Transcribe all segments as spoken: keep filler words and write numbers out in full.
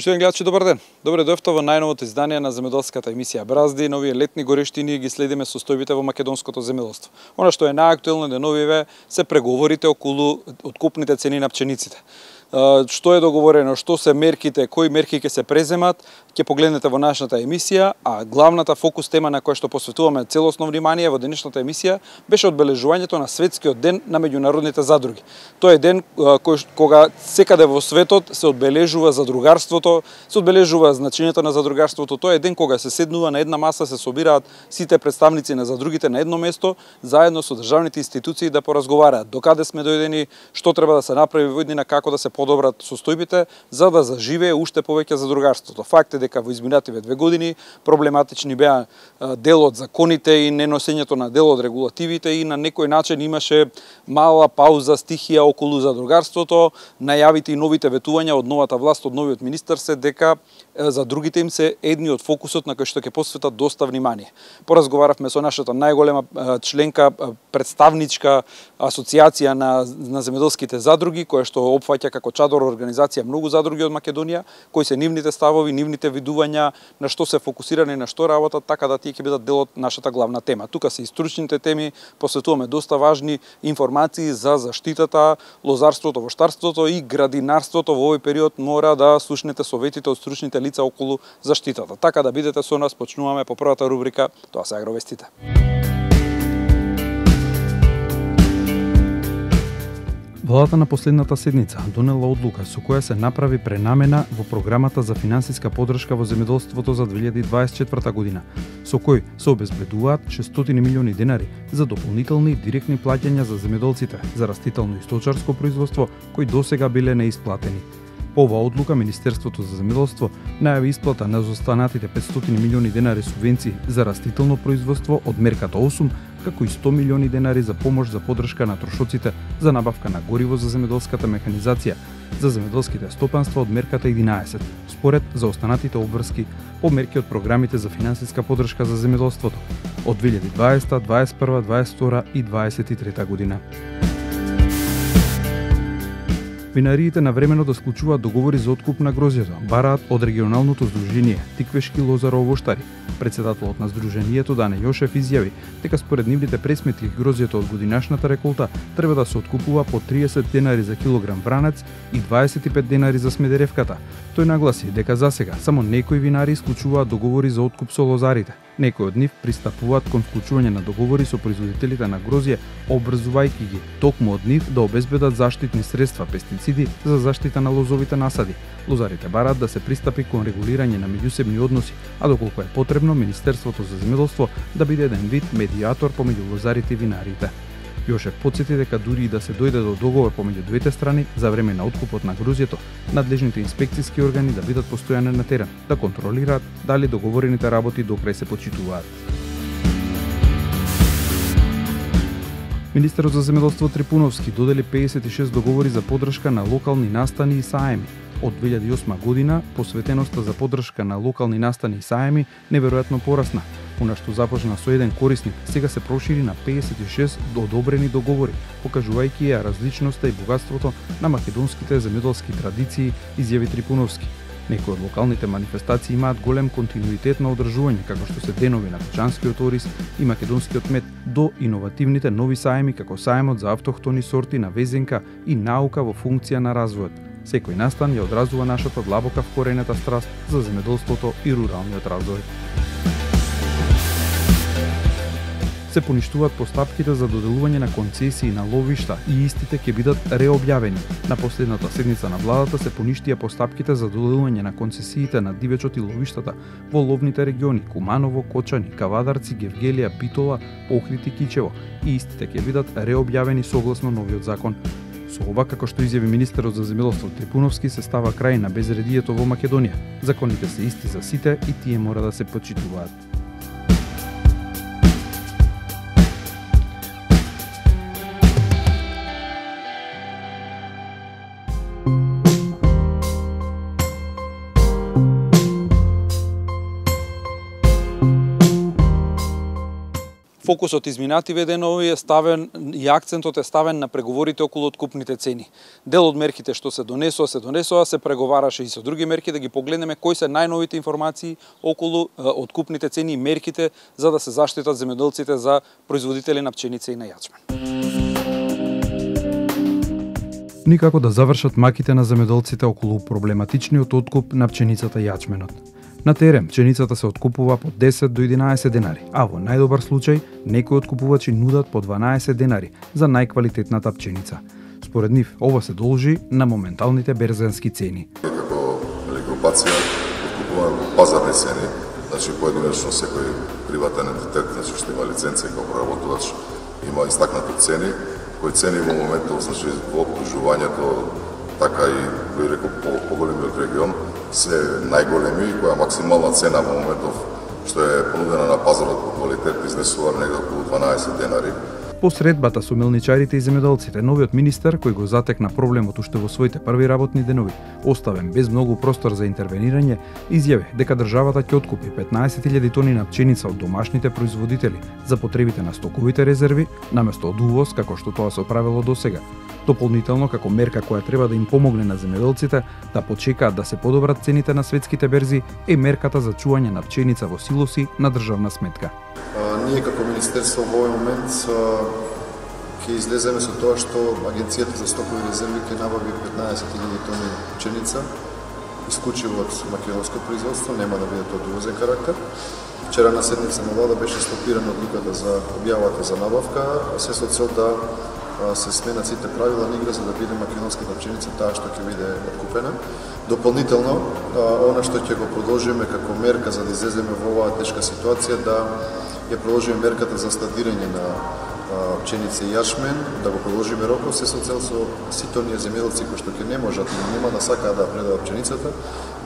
Почитувани гледачи, добар ден. Добре дојавте во најновото издание на земјоделската емисија Бразди. Нови летни горештини ги следиме состојбите во македонското земјоделство. Она што е најактуелно деновиве се преговорите околу откупните цени на пчениците. Што е договорено, што се мерките, кои мерки ќе се преземат, ќе погледнете во нашата емисија, а главната фокус тема на која што посветуваме целосно внимание во денешната емисија беше одбележувањето на светскиот ден на меѓународните задруги. Тоа е ден кој, кога секаде во светот се одбележува задругарството, се одбележува значењето на задругарството. Тоа е ден кога се седнува на една маса, се собираат сите представници на задругите на едно место, заедно со државните институции да поразговараат докаде сме дојдени, што треба да се направи во иднина, како да се подобрат состојбите за да заживее уште повеќе задругарството. Факт е дека во изминативе две години проблематични беа дел од законите и неносењето на дел од регулативите и на некој начин имаше мала пауза, стихија околу задругарството. Најавите и новите ветувања од новата власт, од новиот министер се дека за другите им се едни од фокусот на кој што ќе посветат доста внимание. Поразговаравме со нашата најголема членка, представничка асоциација на, на земјоделските задруги, која што опфаќа како чадор организација многу задруги од Македонија, кои се нивните ставови, нивните видувања, на што се фокусирани, на што работат, така да тие ќе бидат дел од нашата главна тема. Тука се и стручните теми, посветуваме доста важни информации за заштитата, лозарството, воштарството и градинарството. Во овој период мора да слушнете советите од стручните лица околу заштитата. Така да бидете со нас, почнуваме по првата рубрика, тоа се агровестите. Владата на последната седница донела одлука со која се направи пренамена во програмата за финансиска поддршка во земјоделството за две илјади дваесет и четврта година, со кој се обезбедуваат шестстотини милиони денари за дополнителни директни плаќања за земјоделците за растително и сточарско производство кои досега биле неисплатени. По оваа одлука Министерството за земјоделство најави исплата на заостанатите петстотини милиони денари субвенции за растително производство од мерката осум, како и сто милиони денари за помош за поддршка на трошоците за набавка на гориво за земјоделската механизација за земјоделските стопанства од мерката единаесет, според заостанатите обврски по мерки од програмите за финансиска поддршка за земјоделството од две илјади дваесета, дваесет и прва, дваесет и втора и дваесет и трета година. Винариите навремено да склучуваат договори за откуп на грозјето, бараат од регионалното здружение Тиквешки лозаро-овоштари. Председателот на здруженијето Дане Јошев изјави дека според нивните пресметки грозјето од годинашната реколта треба да се откупува по триесет денари за килограм вранец и дваесет и пет денари за смедеревката. Тој нагласи дека засега само некои винари склучуваат договори за откуп со лозарите. Некои од нив пристапуваат кон вклучување на договори со производителите на грозје, обрзувајќи ги токму од нив да обезбедат заштитни средства, пестициди за заштита на лозовите насади. Лозарите бараат да се пристапи кон регулирање на меѓусебни односи, а доколку е потребно Министерството за земјоделство да биде еден вид медијатор помеѓу лозарите и винариите. Јошев потсети дека дури и да се дојде до договор помеѓу двете страни за време на откупот на грозјето, надлежните инспекциски органи да бидат постојано на терен, да контролираат дали договорените работи докрај се почитуваат. Министерот за земјоделство Трипуновски додели педесет и шест договори за поддршка на локални настани и саеми. Од две илјади и осма година посветеноста за поддршка на локални настани и саеми неверојатно порасна. Она што започна со еден корисник, сега се прошири на педесет и шест одобрени договори, покажувајќи ја различноста и богатството на македонските земјоделски традиции, изјави Трипуновски. Некои од локалните манифестации имаат голем континуитет на одржување, како што се денови на печанскиот ориз и македонскиот мед, до иновативните нови саеми како саемот за автохтони сорти на везенка и наука во функција на развојот. Секој настан ја одразува нашата длабока вкоренета страст за земјоделството и руралниот развој. Се поништуваат постапките за доделување на концесии на ловишта и истите ќе бидат реобјавени. На последната седница на владата се поништија постапките за доделување на концесиите на дивечот и ловиштата во ловните региони Куманово, Кочани, Кавадарци, Гевгелија, Битола, Охрид и Кичево и истите ќе бидат реобјавени согласно новиот закон. Со ова, како што изјави министерот за земјоделство Трипуновски, се става крај на безредието во Македонија. Законите се исти за сите и тие мора да се почитуваат. Фокусот изминативе денови е ставен и акцентот е ставен на преговорите околу откупните цени. Дел од мерките што се донесоа, се донесоа, се преговараше и со други мерки, да ги погледнеме кои се најновите информации околу откупните цени и мерките за да се заштитат земјоделците за производители на пченица и на јачмен. Никако да завршат маките на земјоделците околу проблематичниот откуп на пченицата и јачменот. На терен пченицата се откупува по десет до единаесет денари, а во најдобар случај некои откупувачи нудат по дванаесет денари за најквалитетната пченица. Според нив, ова се должи на моменталните берзански цени. Како групација откупуваме по пазарни цени, значи поединечно секој приватен ентитет, значи што има лиценција како проработувач, има истакнати цени, кои цени во моментот, значи во обслужувањето, така и кој рекол по поголемиот регион, се најголеми, која максимална цена во моментов што е понудена на пазарот по квалитет изнесува негде околу дванаесет денари. По средбата со мелничарите и земјоделците, новиот министер, кој го затекна проблемот уште во своите први работни денови, оставен без многу простор за интервенирање, изјави дека државата ќе откупи петнаесет илјади тони на пченица од домашните производители за потребите на стоковите резерви, наместо од увоз, како што тоа се правело досега. Дополнително, како мерка која треба да им помогне на земјоделците да почекаат да се подобрат цените на светските берзи, е мерката за чување на пченица во силоси на државна сметка. А, ние како министерство во овој момент ќе излеземе со тоа што Агенцијата за стокови резерви ќе набави петнаесет илјади тони пченица, исклучиво од македонско производство, нема да биде тоа увозен карактер. Вчера на седница на влада беше стопирана одлуката за објавата за набавка, се со цел да се сменат сите правила на игра за да биде македонската пченица таа што ќе биде откупена. Дополнително, она што ќе го продолжиме како мерка за да излеземе во оваа тешка ситуација, да ја продолжиме мерката за складирање на пченица и јачмен, да го продолжиме рокот, се со цел со сите оние земјоделци кои што ќе не можат или нема да сакаат да предадат пченицата,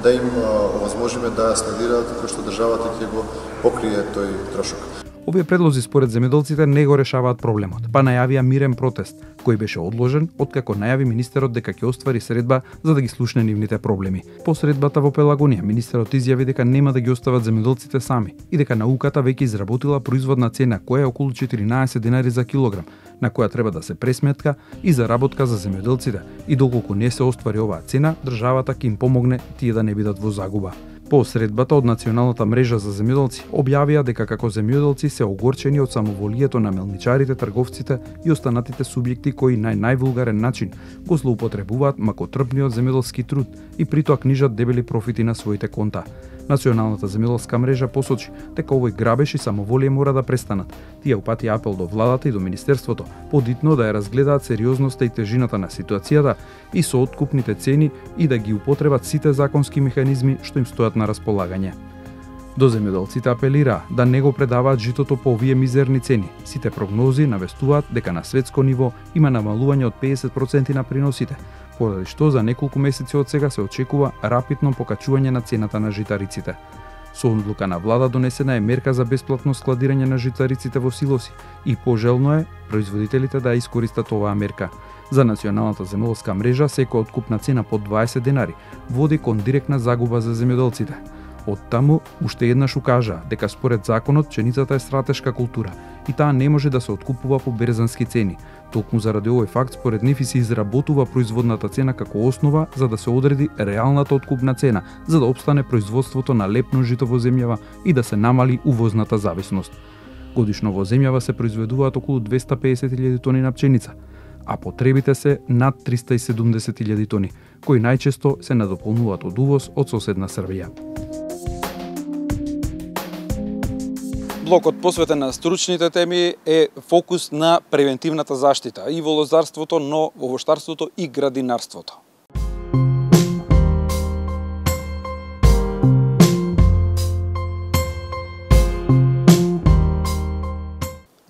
да им овозможиме да ја складираат, како што државата ќе го покрие тој трошок. Овие предлози според земјоделците не го решаваат проблемот, па најавија мирен протест, кој беше одложен откако најави министерот дека ќе оствари средба за да ги слушне нивните проблеми. По средбата во Пелагонија, министерот изјави дека нема да ги остават земјоделците сами и дека науката веќе изработила производна цена која е околу четиринаесет денари за килограм, на која треба да се пресметка и заработка за земјоделците, и доколку не се оствари оваа цена, државата ќе им помогне тие да не бидат во загуба. По средбата од Националната мрежа за земјоделци објавија дека како земјоделци се огорчени од самоволието на мелничарите, трговците и останатите субјекти кои на највулгарен начин го злоупотребуваат макотрпниот земјоделски труд и при тоа книжат дебели профити на своите конта. Националната земјоделска мрежа посочи дека овој грабеж и самоволие мора да престанат. Тие упати апел до владата и до министерството подитно да ја разгледаат сериозноста и тежината на ситуацијата и со откупните цени и да ги употребат сите законски механизми што им стојат на располагање. До земјоделците апелира да не го предаваат житото по овие мизерни цени. Сите прогнози навестуваат дека на светско ниво има намалување од педесет проценти на приносите, поради што за неколку месеци од сега се очекува рапидно покачување на цената на житариците. Со одлука на влада донесена е мерка за бесплатно складирање на житариците во силоси и пожелно е производителите да искористат оваа мерка. За Националната земјоделска мрежа секоја откупна цена по дваесет денари води кон директна загуба за земјоделците. Од таму уште еднаш укажа дека според законот пченицата е стратешка култура и таа не може да се откупува по берзански цени. Токму заради овој факт според нив и се изработува производната цена како основа за да се одреди реалната откупна цена, за да опстане производството на лепно жито во земјава и да се намали увозната зависност. Годишно во земјава се произведуваат околу двесте и педесет илјади тони на пченица, а потребите се над триста и седумдесет илјади тони, кои најчесто се надополнуваат од увоз од соседна Србија. Блокот посветен на стручните теми е фокус на превентивната заштита и во лозарството, но во овоштарството и градинарството.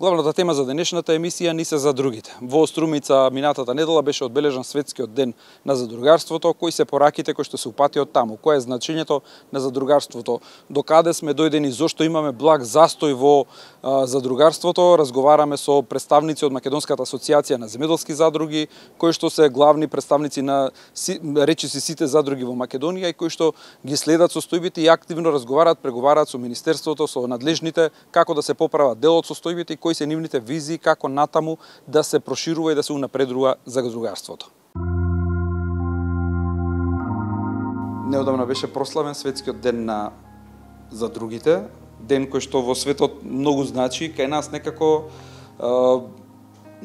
Главната тема за денешната емисија ни се задрugите. Во Струмица минатата недела беше одбележан светскиот ден на задругарството, кои се пораките кои што се упатиот таму, кое е значењето на задругарството, докаде сме дојдени, зошто имаме благ застој во а, задругарството. Разговараме со представници од Македонската асоциација на земјоделски задруги, кои што се главни представници на си, речиси сите задруги во Македонија и кои што ги следат состојбите и активно разговараат, преговараат со министерството, со надлежните, како да се поправат дел од состојбите и кои се нивните визии како натаму да се проширува и да се унапредува задругарството. Неодамна беше прославен светскиот ден на задругите, ден кој што во светот многу значи, кај нас некако а,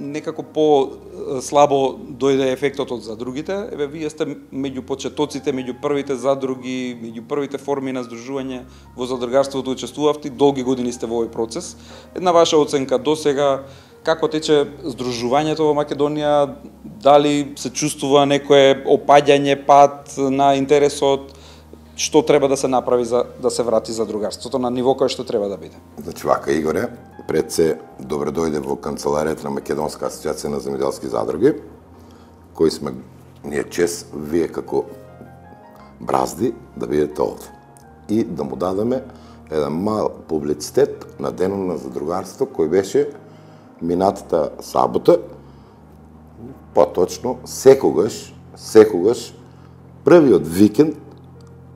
некако по-слабо дојде ефектот од задругите. Еве, вие сте меѓу почетоците, меѓу првите задруги, меѓу првите форми на здружување во задругарството учествувавте, долги години сте во овој процес. Една ваша оценка до сега, како тече здружувањето во Македонија, дали се чувствува некое опаѓање, пат на интересот, што треба да се направи за да се врати задругарството на ниво кое што треба да биде? Значи вака, Игоре, пред се добре дојде во канцеларијата на Македонска асоциација на земјоделски задруги, кои сме ние чест, вие како бразди да бидете овде и да му дадеме еден мал публицитет на денот на задругарство кој беше минатата сабота, поточно секогаш, секогаш првиот викенд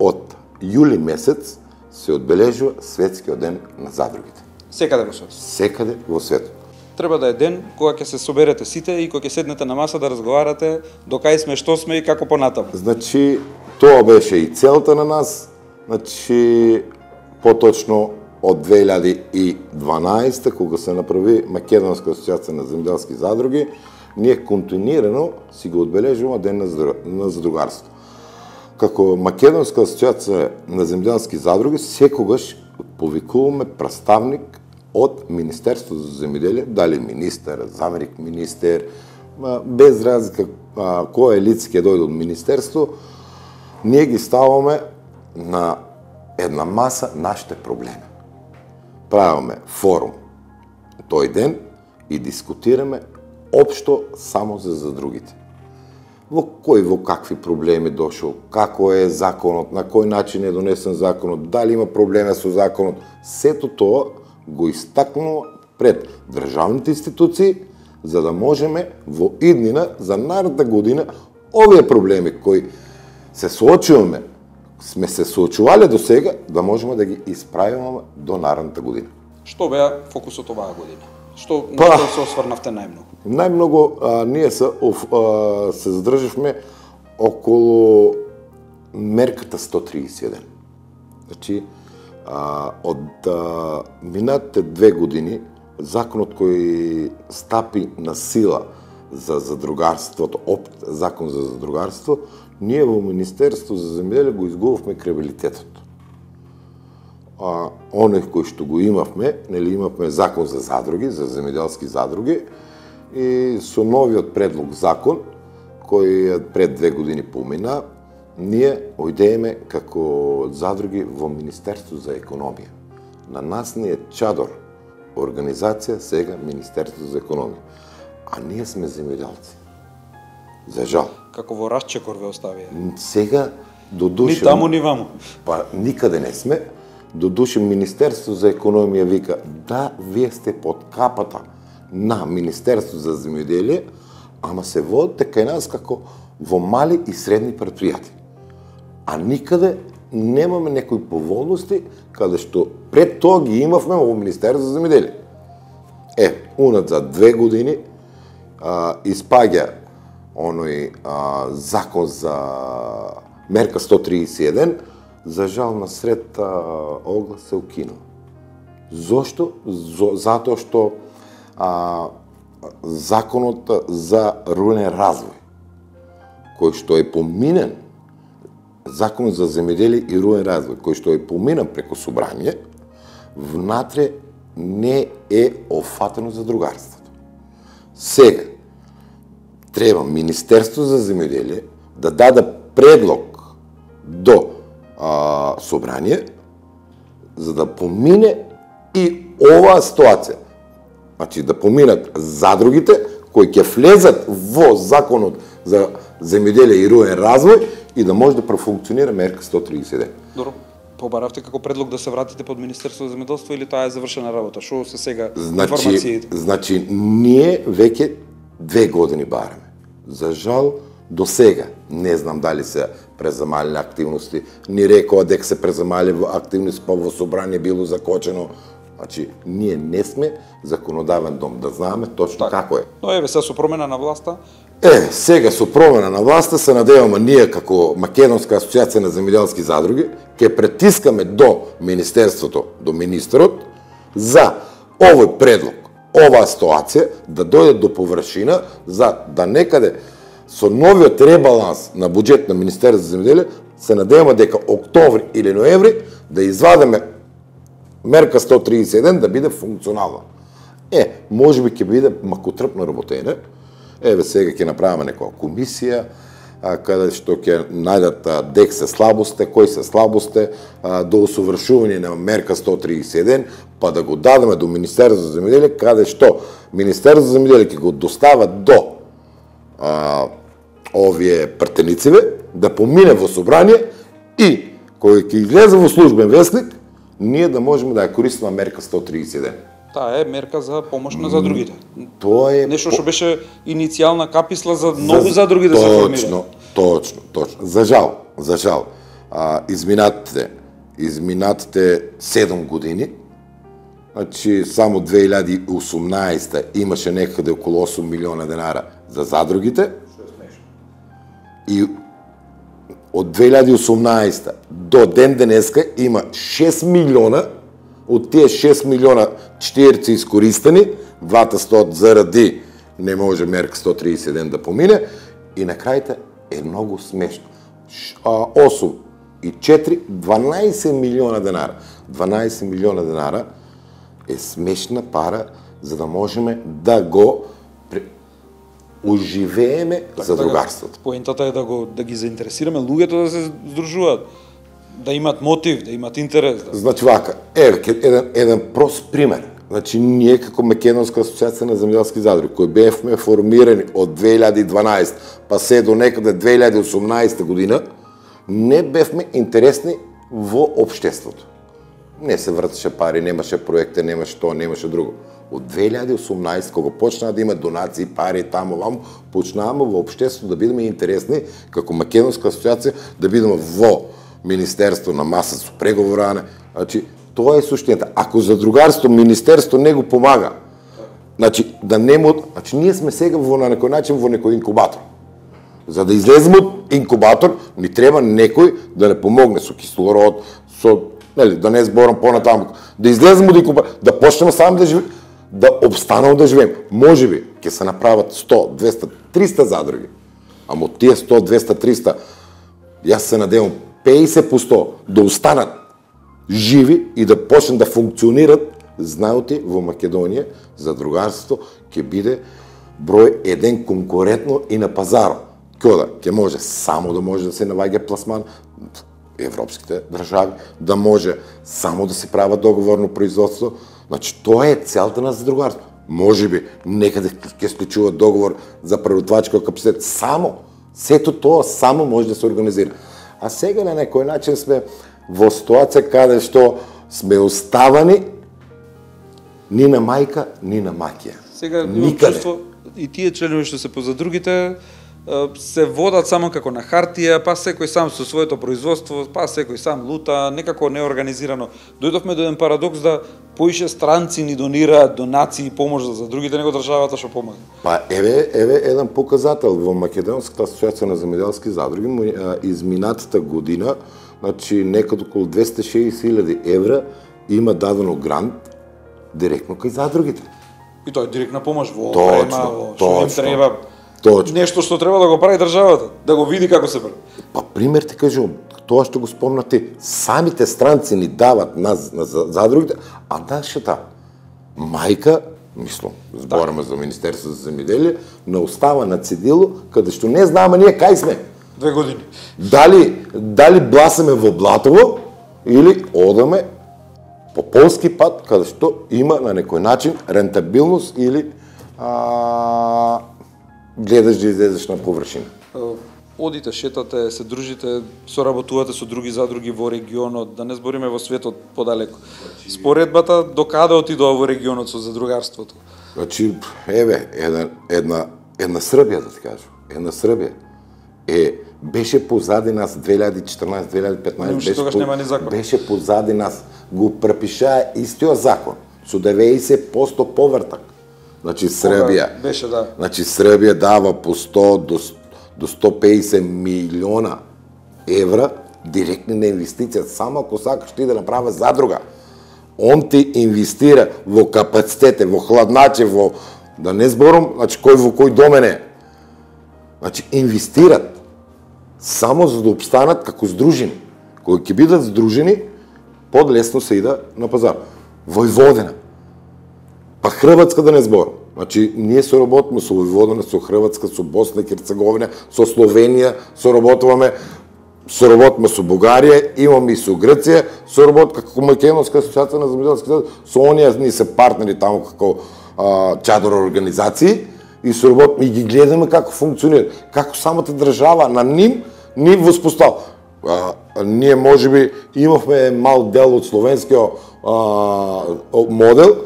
од јули месец се одбележува светскиот ден на задругите. Секаде во светот. Секаде во светот. Треба да е ден кога ќе се соберете сите и кога ќе седнете на маса да разговарате докај сме, што сме и како понатаму. Значи, тоа беше и целта на нас. Значи, поточно од две илјади и дванаесета, кога се направи Македонска асоциација на земјоделски задруги, ние континуирано си го одбележуваме ден на задругарство. Како Македонска асоциација на земјоделски задруги секогаш повикуваме представник од Министерството за земјоделие, дали министер, заменик министер, без разлика кој е лице ќе дојде од министерство, ние ги ставаме на една маса нашите проблеми. Правиме форум тој ден и дискутираме општо само за задругите. Во кој во какви проблеми дошол, како е законот, на кој начин е донесен законот, дали има проблеми со законот, сето тоа го истакнува пред државните институции, за да можеме во иднина за наредната година овие проблеми кои се соочуваме, сме се соочувале до сега, да можеме да ги исправиме до наредната година. Што беа фокусот оваа година? Што Па, на што се осврнавте најмногу? Најмногу а, ние се, оф, а, се задржавме околу мерката сто триесет и еден. Значи, а, од а, минатите две години, законот кој стапи на сила за задругарството, опт закон за задругарство, ние во Министерство за земјоделие го изгубавме крedibilitetot. А, оној кој што го имавме, нели имавме закон за задруги, за земјоделски задруги, и со новиот предлог закон, кој пред две години помина, ние ојдееме како задруги во Министерство за економија. На нас не е чадор, организација сега Министерство за економија. А ние сме земјоделци. За жал. Како во расчекор ве оставија. Сега до душа... Ни таму, ни ваму. Па никаде не сме. До душа Министерство за економија вика, да, вие сте под капата на Министерство за земјоделие, ама се водите кај нас како во мали и средни предпријатија. А никаде немаме некои поволности, каде што пред тоа ги имавме во Министерство за земјоделие. Е, унат за две години а, испаѓа оној а, закон за мерка сто триесет и еден, за жал на сред а, оглас се укинува. Зошто? Зо, затоа што а, законот за рурален развој, кој што е поминен, закон за земјоделие и рурален развој, кој што е поминен преку собрание, внатре не е офатено задругарството. Сега, треба Министерство за земјоделие да даде предлог до а, собрание, за да помине и оваа ситуација. значи да поминат задругите кои ќе влезат во законот за земјоделие и руен развој и да може да профункционира мерка сто триесет и еден. Добро. Побаравте како предлог да се вратите под Министерството за земјоделство или таа е завршена работа? Што се сега значи, информациите? Значи, ние веќе две години бараме. За жал, до сега, не знам дали се презамалени активности, ни рекоа дека се презамали активности, па во собрание било закочено. Значи, ние не сме законодавен дом, да знаеме точно Так. како е. Но еве се со промена на власта, Е, сега со промена на власта се надеваме ние како Македонска асоциација на земјоделски задруги ќе претискаме до Министерството, до министерот за овој предлог, оваа ситуација да дојде до површина за да некаде со новиот ребаланс на буџет на Министерството за земјоделие се надеваме дека октомври или ноември да извадиме мерка сто триесет и еден да биде функционална. Е, можеби ќе биде макотрпно работење. Еве сега ќе направиме некоја комисија а, каде што ќе најдат а, дек се слабосте, кои се слабосте а, до усовршување на мерка сто триесет и еден, па да го дадеме до Министерството за земјоделие, каде што Министерството за земјоделие ќе го достава до а, овие претенициве, да помине во собрание и кој ќе излезе во службен вестник, ние да можеме да ја користиме мерка сто триесет и еден. таа е мерка за помош на задругите. Тоа е Нешто што беше иницијална каписла за нови задруги да се формираат. Точно, точно, точно. За жал, за жал. А, изминатите, изминатите седум години, значи само две илјади и осумнаесета имаше некаде околу осум милиона денара за задругите. И од две илјади и осумнаесета до ден денеска има шест милиона, од тие шест милиона четири искористени, двата сто заради не може мерка сто триесет и еден да помине, и на крајта е многу смешно. осум и четири, дванаесет милиона денара. дванаесет милиона денара е смешна пара за да можеме да го оживееме задругарството. Поентата е да го да ги заинтересираме луѓето да се здружуваат, да имат мотив, да имат интерес. Да... Значи вака, еве еден еден прост пример. Значи ние како Македонска асоциација на земјоделски задруги, кои бевме формирани од две илјади и дванаесета па се до некаде две илјади и осумнаесета година, не бевме интересни во општеството. Не се вртеше пари, немаше проекти, немаше тоа, немаше друго. Од две илјади и осумнаесета, кога почнаа да има донации, пари таму ваму, почнаваме во општеството да бидеме интересни како Македонска асоциација, да бидеме во Министерство на маса со преговоране. Значи, тоа е суштината. Ако задругарство, Министерство не го помага, значи, да не му... Значи, ние сме сега во на некој начин во некој инкубатор. За да излеземе од инкубатор, ни треба некој да не помогне со кислород, со... Нели, да не зборам понатаму. Да излеземе од инкубатор, да почнеме сами да живееме, да обстанеме да живееме. Можеби ќе се направат сто, двеста, триста задруги. Ама од тие сто, двеста, триста, јас се надевам петдесет по сто да останат живи и да почнат да функционират, знаете, во Македонија задругарството ќе биде број еден конкурентно и на пазарот. Кода ќе може само да може да се наваѓа пласман европските држави, да може само да се прават договорно производство. Значи тоа е целта на задругарство. Можеби некаде ќе склучуваат договор за преработвачки капацитет, само сето тоа само може да се организира. А сега на некој начин сме во ситуација каде што сме оставани ни на мајка, ни на маќија. Сега имам чувство и тие членови што се позадрugите се водат само како на хартија, па секој сам со своето производство, па секој сам лута, некако неорганизирано. Дојдовме до еден парадокс да поише странци ни донираат донации и помош за другите него државата што помага. Па еве еве еден показател во Македонската асоциација на земјоделски задруги изминатата година, значи некаде околу двеста и шеесет илјади евра има дадено грант директно кај задругите. И тоа е директна помош во Точно, опрема, во што точно. им треба. Точно. Нешто што треба да го прави државата, да го види како се прави. Па пример ти кажувам, тоа што го спомнати, самите странци ни дават на, на задругите, а нашата мајка, мислам, збораме за Министерство за земјоделие, не остава на цедило, каде што не знаеме ние кај сме. Две години. Дали, дали бласаме во Блатово, или одаме по полски пат, каде што има на некој начин рентабилност или а, гледаш да излезеш на површина. Одите, шетате, се дружите, соработувате со други задруги во регионот, да не збориме во светот подалеку. Споредбата до каде отидува во регионот со задругарството? Значи, еве, една, една, една Србија, да ти кажам, една Србија е, беше позади нас две илјади и четрнаесет две илјади и петнаесет, беше, тогаш нема ни закон. Беше позади нас, го препишаа истиот закон, со деветдесет проценти повртак. Значи, Србија, Кога беше, да. Значи, Србија дава по сто до до сто песет милиона евра директни на инвестиција, само ако сакаш ти да направи задруга. Он ти инвестира во капацитете, во хладначе, во да не зборам, значи кој во кој домен е. Значи инвестират само за да обстанат како здружени. Кога ќе бидат здружени, подлесно се иде на пазар. Војводина. Па Хрватска да не зборам. Значи, ние соработуваме со Војводина, со Хрватска, со Босна и Херцеговина, со Словенија, соработуваме, соработуваме со Бугарија, имаме и со Грција, соработуваме како Македонска асоциација на земјоделски задруги, со оние ни се партнери таму како а, чадор организации и соработуваме и ги гледаме како функционира, како самата држава на ним ни воспостава. Ние можеби имавме мал дел од словенскиот модел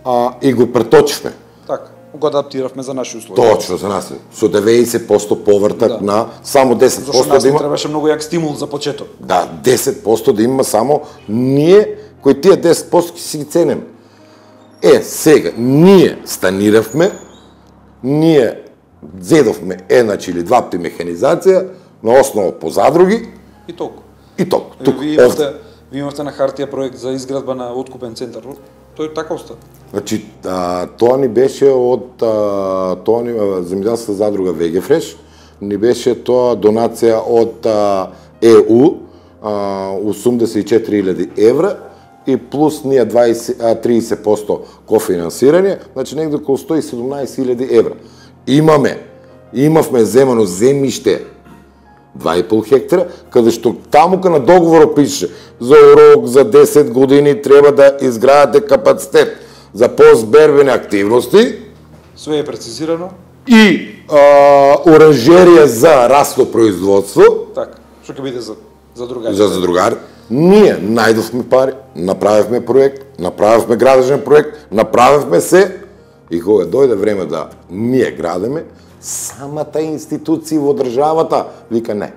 а, и го преточивме. Така, го адаптиравме за наши услови. Точно, за нас. Со деветдесет проценти повртак Да. на само десет проценти Зашто нас да ни има. требаше многу јак стимул за почеток. Да, десет проценти да има само ние, кои тие десет проценти си ги ценим. Е, сега, ние станиравме, ние зедовме еднач или два пти механизација на основа по задруги И толку. и толку. Тук, Тук, вие, овде. имавте, вие имавте на хартија проект за изградба на откупен центар. Тој така остана. Значи, а, тоа ни беше од а, тоа ни земјоделска задруга Вегефреш, ни беше тоа донација од а, Е У, а, осумдесет и четири илјади евра и плюс ние дваесет, а, тридесет проценти кофинансирање, значи негде околу сто и седумнаесет илјади евра. Имаме, имавме земано земјиште два и пол хектара, каде што таму на договорот пише за урок за десет години треба да изградите капацитет за постбербени активности Све е прецизирано. и а, оранжерија за расно производство Така, што ќе биде за за другари. за задругар. Ние најдовме пари, направивме проект, направивме градежен проект, направивме се и кога дојде време да ние градиме, самата институција во државата вика не.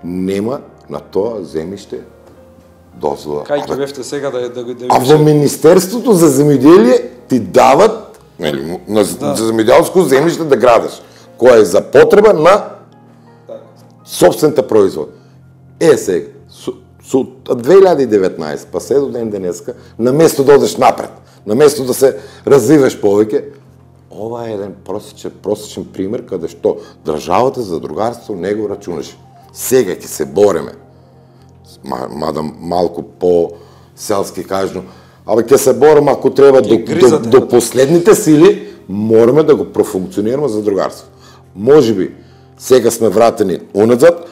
Нема на тоа земјиште дозвола. Кај ќе бевте сега да да да А во Министерството за земјоделие ти дават, нели, на Да. за земјоделско земјиште да градиш, која е за потреба на собствената производ. Е сега, со, со две илјади и деветнаесет па се до ден денеска, на место да одеш напред, на место да се развиваш повеќе, ова е еден просечен, просечен пример каде што државата за задругарство не го рачунаше. Сега ќе се бореме, мада малку по селски кажно, абе ќе се бореме ако треба до, до, до последните сили, мораме да го профункционираме задругарство. Можеби сега сме вратени уназад,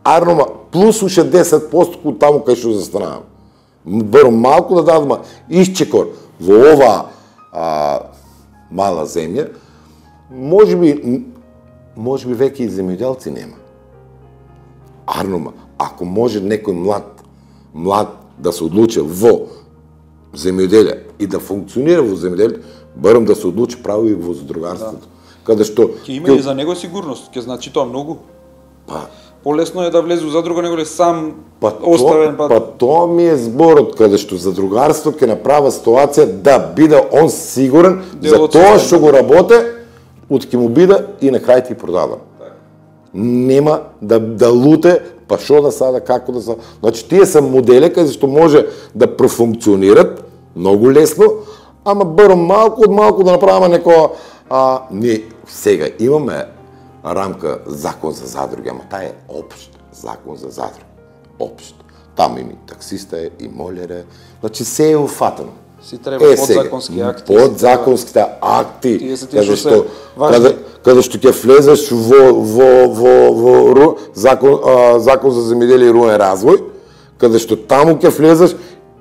арнома плюс уште десет проценти од таму кај што застанаваме. Барам малку да дадам исчекор во ова а, мала земја, можеби можеби веќе и земјоделци нема. Арнома, ако може некој млад, млад да се одлучи во земјоделие и да функционира во земјоделие, барам да се одлучи право и во задругарството. Да. Каде што ќе има и за него сигурност, ќе значи тоа многу. Па полесно е да влезе во задруга него ли сам па оставен то, па па тоа ми е зборот каде што задругарство ќе направи ситуација да биде он сигурен Дел за од тоа системата. што го работе, од ќе му биде и на крај ти продаден. Нема да да луте, па што да сада, како да сада. Значи тие се модели каде што може да профункционират многу лесно, ама барам малку од малку да направиме некоја а ние сега имаме рамка закон за задруги, ама таа е општ закон за задруги. Општ. Таму има и таксиста е, и молер е. Значи се е уфатено. си треба подзаконски акти. Подзаконските акти, Тие се тие каде што што се важни. каде каде што ќе влезеш во во во во ру, закон а, закон за земјоделие и рурален развој, каде што таму ќе влезеш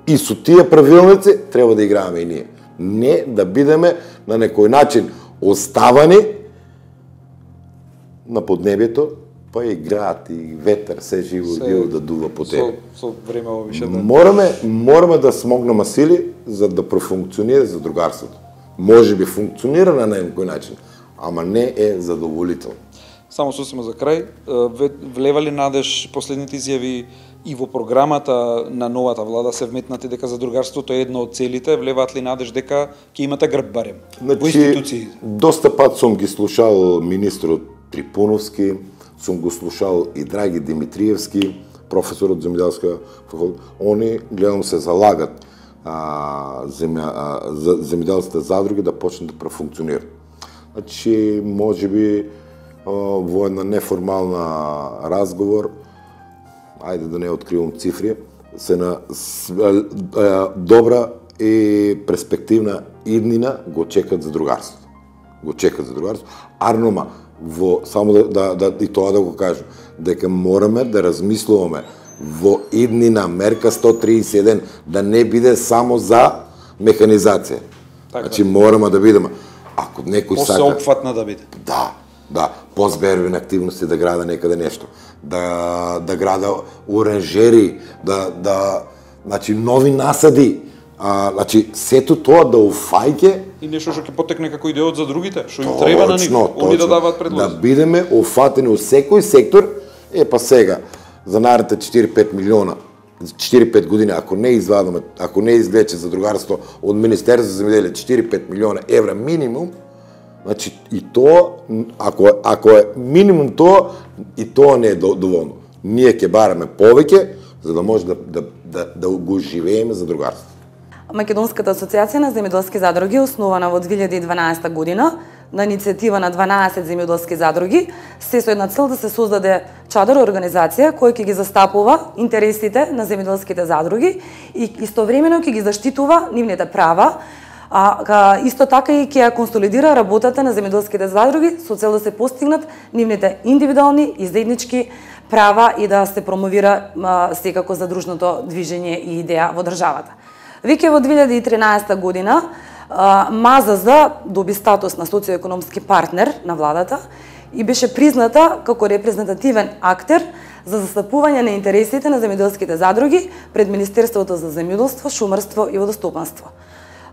И со тие правилници треба да играеме и ние. Не да бидеме на некој начин оставани на поднебието, па играат и ветер, се живо диво да дува по тебе. Со, со време више да... Мораме, мораме да смогнеме сили за да профункционира задругарството. Може би функционира на некој начин, ама не е задоволително. Само сосема за крај, влева ли надеж последните изјави и во програмата на новата влада се вметнати дека задругарството е една од целите, влеваат ли надеж дека ќе имате грб барем значи, во институции? Доста пат сум ги слушал министрот Трипуновски, сум го слушал и Драги Димитриевски, професор од земјоделска факултет. Они, гледам, се залагат а, земја, а, за, земјоделските задруги да почнат да профункционират. Значи, може би а, во една неформална разговор, ајде да не откривам цифри, се на с, а, а, добра и перспективна иднина го чекат задругарството. Го чекат задругарството. Арнома, во само да, да, да и тоа да го кажам, дека мораме да размислуваме во иднина мерка сто триесет и еден да не биде само за механизација. Така. Значи мораме да бидеме. Ако некој сака Посеопфатна да биде. Да, да, позбербени активности да града некаде нешто, да да града оранжери, да да значи нови насади. А, значи сето тоа да уфајке И нешто што ќе потекне како идеја за другите, што им треба на нив, они да даваат предлози. Да бидеме офатени во секој сектор, е па сега за наредните четири-пет милиона, четири-пет години, ако не извадаме, ако не излече задругарство од Министерството за земјоделие четири-пет милиона евра минимум, значи и тоа, ако ако е минимум тоа, и тоа не е доволно. Ние ќе бараме повеќе за да може да да да, да го живееме задругарство. Македонската асоциација на земјоделски задруги, основана во две илјади и дванаесета година, на иницијатива на дванаесет земјоделски задруги, се со една цел да се создаде чадор организација која ќе ги застапува интересите на земјоделските задруги и истовремено ќе ги заштитува нивните права, а исто така и ќе ја консолидира работата на земјоделските задруги со цел да се постигнат нивните индивидуални и заеднички права и да се промовира а, секако задружното движење и идеја во државата. Веќе во две илјади и тринаесета година МАЗЗ доби статус на социоекономски партнер на владата и беше призната како репрезентативен актер за застапување на интересите на земјоделските задруги пред Министерството за земјоделство, шумарство и водостопанство.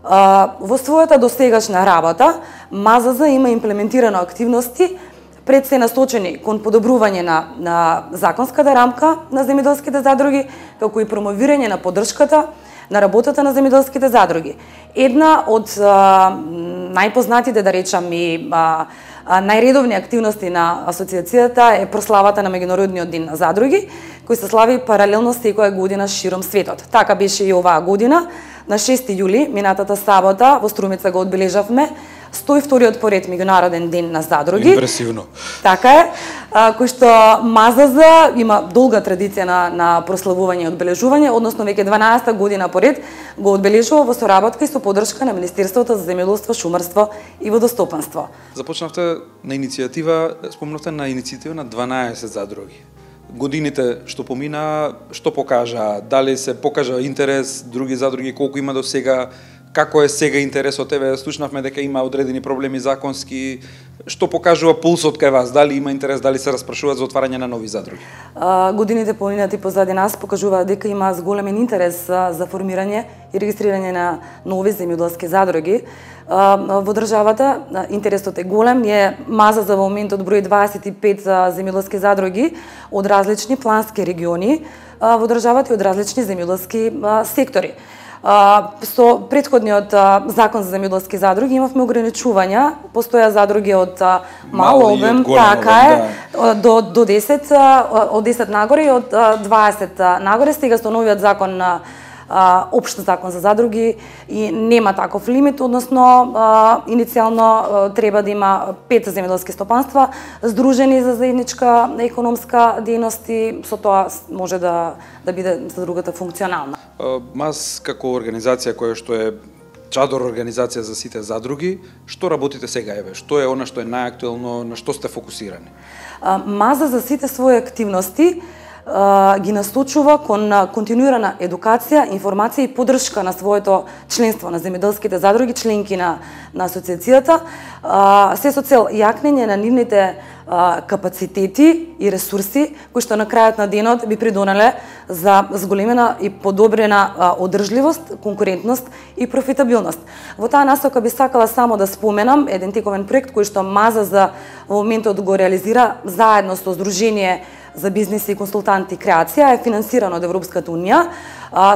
Во својата досегашна работа МАЗЗ има имплементирано активности пред се насочени кон подобрување на, на законската рамка на земјоделските задруги, како и промовирање на поддршката на работата на земјоделските задруги. Една од а, најпознатите, да речам, и а, а, најредовни активности на асоциацијата е прославата на Меѓународниот ден на задруги, кој се слави паралелно секоја година широм светот. Така беше и оваа година. На шести јули, минатата сабота, во Струмица го одбележавме сто и вториот поред Меѓународен ден на задруги. Импресивно. Така е, кој што МАЗЗ има долга традиција на, на прославување и одбележување, односно веќе дванаесета година поред го одбележува во соработка и со поддршка на Министерството за земјоделство, шумарство и водостопанство. Започнавте на иницијатива, спомнавте на иницијатива на дванаесет задруги. Годините што помина, што покажа? Дали се покажа интерес, други задруги, колку има до сега? Како е сега интересот? Еве, слушнавме дека има одредени проблеми законски. Што покажува пулсот кај вас? Дали има интерес, дали се распрашуваат за отварање на нови задруги? А, годините поминати позади нас покажуваат дека има зголемен интерес а, за формирање и регистрирање на нови земјоделски задруги. А, во државата а, интересот е голем. Ние МАЗЗ за моментот брои дваесет и пет земјоделски задруги од различни плански региони а, во државата и од различни земјоделски а, сектори. А, со предходниот а, закон за земјоделски задруги имавме ограничувања, постоја задруги од а, мал обем, така е, да. до до десет, а, од десет нагоре и од а, дваесет нагоре. Сега со новиот закон на општ закон за задруги и нема таков лимит, односно а, иницијално а, треба да има пет земјоделски стопанства здружени за заедничка економска дејност и со тоа може да да биде за другата функционална. МАЗ како организација која што е чадор организација за сите задруги, што работите сега, еве? Што е она што е најактуелно, на што сте фокусирани? МАЗ за сите своји активности ги насочува кон континуирана едукација, информација и поддршка на своето членство на земјоделските задруги, членки на на асоциацијата, се со цел јакнење на нивните капацитети и ресурси кои што на крајот на денот би придонеле за зголемена и подобрена одржливост, конкурентност и профитабилност. Во таа насока би сакала само да споменам еден тековен проект кој што МАЗа за во моментот го реализира заедно со Сдружение за бизнис и консултанти и креација, е финансирано од Европската унија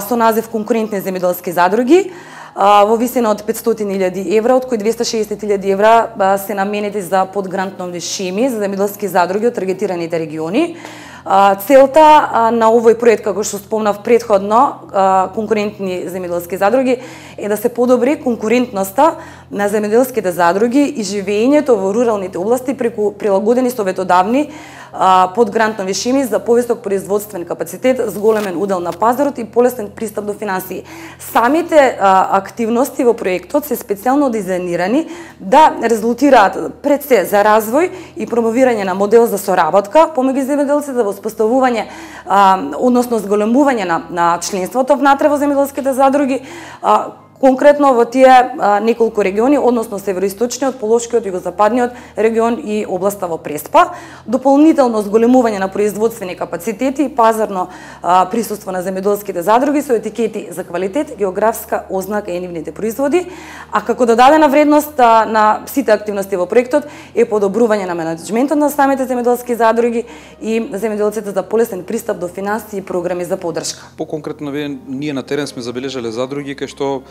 со назив Конкурентни земјоделски задруги во висина од петстотини илјади евра, од кои двесте и шеесет илјади евра се наменети за подгрантнови шеми за земјоделски задруги од таргетираните региони. Целта на овој проект, како што спомнав претходно, конкурентни земјоделски задруги, е да се подобри конкурентноста на земјоделските задруги и живеењето во руралните области преку прилагодени советодавни подгрантнови шеми за повисок производствен капацитет, зголемен удел на пазарот и полесен пристап до финансии. Самите активности во проектот се специјално дизајнирани да резултираат пред се за развој и промовирање на модел за соработка помеѓу земјоделците, во воспоставување, односно зголемување на, на членството внатре во земјоделските задруги, а, конкретно во тие а, неколку региони, односно североисточниот, полошкиот, југозападниот регион и областа во Преспа, дополнително зголемување на производствени капацитети и пазарно а, присуство на земјоделските задруги со етикети за квалитет, географска ознака и нивните производи, а како додадена вредност а, на сите активности во проектот е подобрување на менеджментот на самите земјоделски задруги и земјоделците за полесен пристап до финансии и програми за поддршка. По-конкретно, ние на терен сме забележале задруги кај што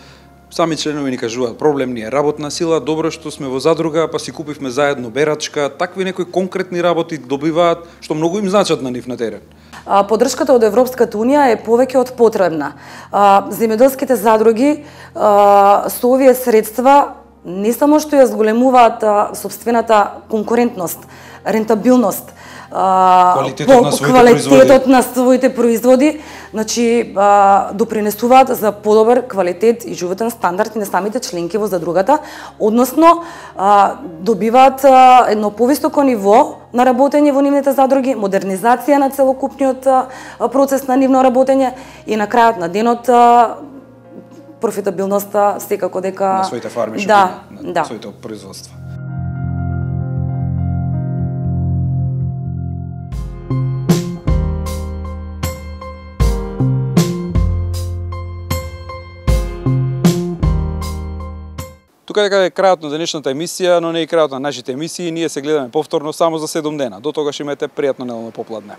сами членови ни кажуваат, проблем ни е работна сила, добро што сме во задруга, па си купивме заедно берачка, такви некои конкретни работи добиваат, што многу им значат на нив на терен. Поддршката од Европската унија е повеќе од потребна. Земјоделските задруги со овие средства не само што ја зголемуваат собствената конкурентност, рентабилност, квалитетот на своите квалитетот производи, на своите производи, значи допринесуваат за подобар квалитет и животен стандард и на самите членки во задругата, односно добиваат едно повисоко ниво на работење во нивните задруги, модернизација на целокупниот процес на нивно работење и на крајот на денот профитабилноста секако дека на своите фарми, да, на да. своите производства. Тука дека е крајот на денешната емисија, но не и крајот на нашите емисии. Ние се гледаме повторно само за седум дена. До тогаш имате пријатно неделно попладне.